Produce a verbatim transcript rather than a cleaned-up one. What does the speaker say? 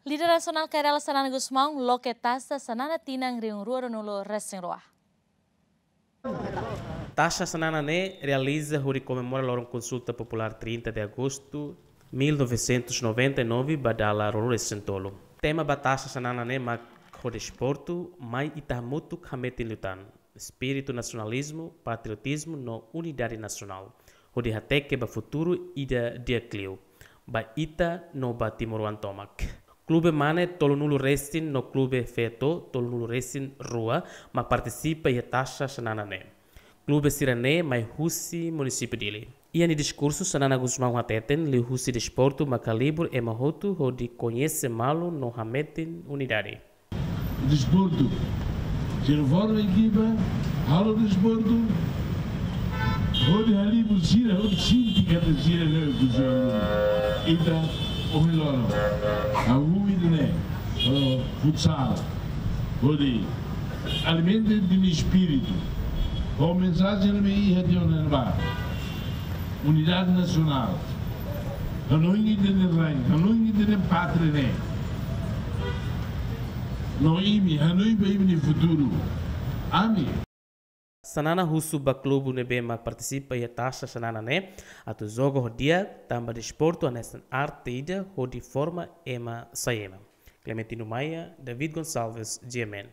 Líder nasionál Kay Rala Xanana Gusmão loke taxa Xanana tinan rihun rua ruanulu resin rua. Taxa Xanana ne'e realiza hodi komemora loron Konsulta Populár trinta de Agosto mil novecentos e noventa e nove ba dala ruanulu resin tolu. Tema ba taxa Xanana ne'e mak Ho Desportu, mai ita hamutuk hametin liután espíritu nasionalizmu, patriotizmu no unidade nasionál, hodi hateke ba futuru ida di'ak liu ba ita no ba timoroan tomak. Klube mane tolunulu resin no klube feto tolunulu resin rua mak partisipa iha taxa Xanana ne'e. Klube sira-ne'e mai husi munisípiu Dili. Iha nia diskursu, Xanana Gusmão hateten, liuhusi desportu mak halibur ema hotu hodi koñese malu no hametin unidade. Desportu, sira forma ekipa, halo desportu, hodi halibur sira, hodi sente katak sira ne'e ku sira. Ita, ohin loron, hahú ida-ne'e, halo futsal, hodi alimenta ita-nia espíritu. Ho mensajen ne'ebé iha tiha ona ba unidade nasionál. Hanoin ita-nia rain, hanoin ita-nia pátria ne'e. No imi, hanoin ba imi-nia futuru. Ami. Xanana husu ba klube ne'ebé mak partisipa iha taxa Xanana ne'e atu joga ho di'ak, tanba desportu hanesan arte ida hodi forma ema sai ema. Clementino Maia, David Gonçalves, G M N.